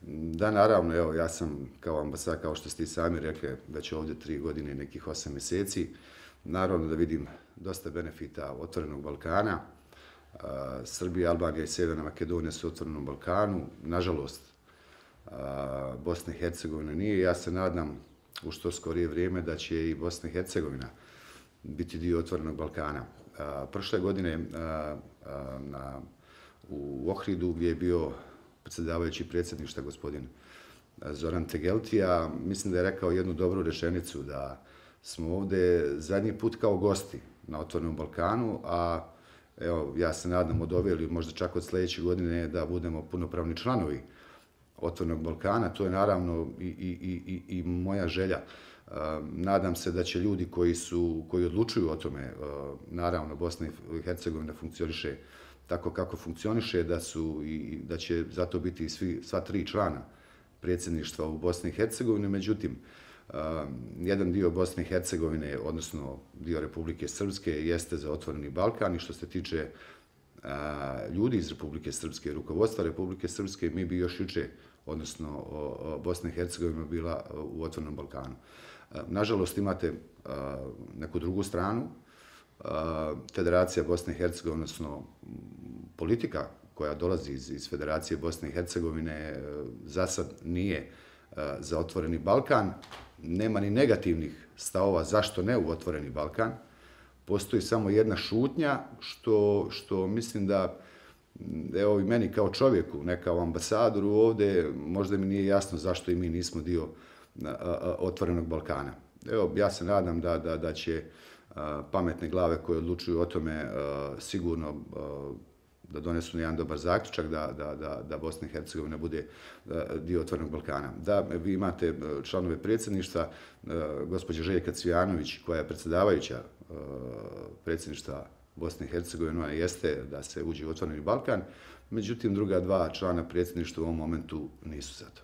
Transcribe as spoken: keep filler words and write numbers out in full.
Da, naravno, evo, ja sam kao ambasador, kao što ste i sami rekli, već ovdje tri godine i nekih osam mjeseci. Naravno da vidim dosta benefita Otvorenog Balkana. Srbija, Albanija i Sjeverna Makedonija su u Otvorenom Balkanu. Nažalost, Bosna i Hercegovina nije. Ja se nadam u što skorije vrijeme da će i Bosna i Hercegovina biti dio Otvorenog Balkana. Prošle godine na, u Ohridu, gdje je bio predsjedavajući predsjedništva gospodin Zoran Tegeltija, mislim da je rekao jednu dobru rečenicu, da smo ovdje zadnji put kao gosti na Otvorenom Balkanu, a evo, ja se nadam od ove ili možda čak od sljedeće godine da budemo punopravni članovi Otvorenog Balkana. To je naravno i, i, i, i moja želja. Nadam se da će ljudi koji, su, koji odlučuju o tome, naravno Bosna i Hercegovina funkcioniše tako kako funkcioniše, da, su i, da će zato biti i svi, sva tri člana predsjedništva u Bosni i Hercegovini. Međutim, jedan dio Bosne i Hercegovine, odnosno dio Republike Srpske, jeste za Otvoreni Balkan, i što se tiče ljudi iz Republike Srpske, rukovodstva Republike Srpske, mi bi još juče, odnosno Bosna i Hercegovina, bila u Otvorenom Balkanu. Nažalost, imate neku drugu stranu, Federacija Bosne i Hercegovine, odnosno politika koja dolazi iz, iz Federacije Bosne i Hercegovine, za sad nije za Otvoreni Balkan. Nema ni negativnih stavova zašto ne u Otvoreni Balkan. Postoji samo jedna šutnja, što, što mislim da, evo i meni kao čovjeku, ne kao ambasadoru ovdje, možda mi nije jasno zašto i mi nismo dio Otvorenog Balkana. Evo, ja se nadam da, da, da će pametne glave koje odlučuju o tome sigurno da donesu jedan dobar zaključak, da, da, da, da Bosna i Hercegovina bude dio Otvorenog Balkana. Da, vi imate članove predsjedništva, gospođa Željka Cvijanović, koja je predsjedavajuća predsjedništva Bosne i Hercegovine, ona jeste da se uđe u Otvoreni Balkan, međutim druga dva člana predsjedništva u ovom momentu nisu za to.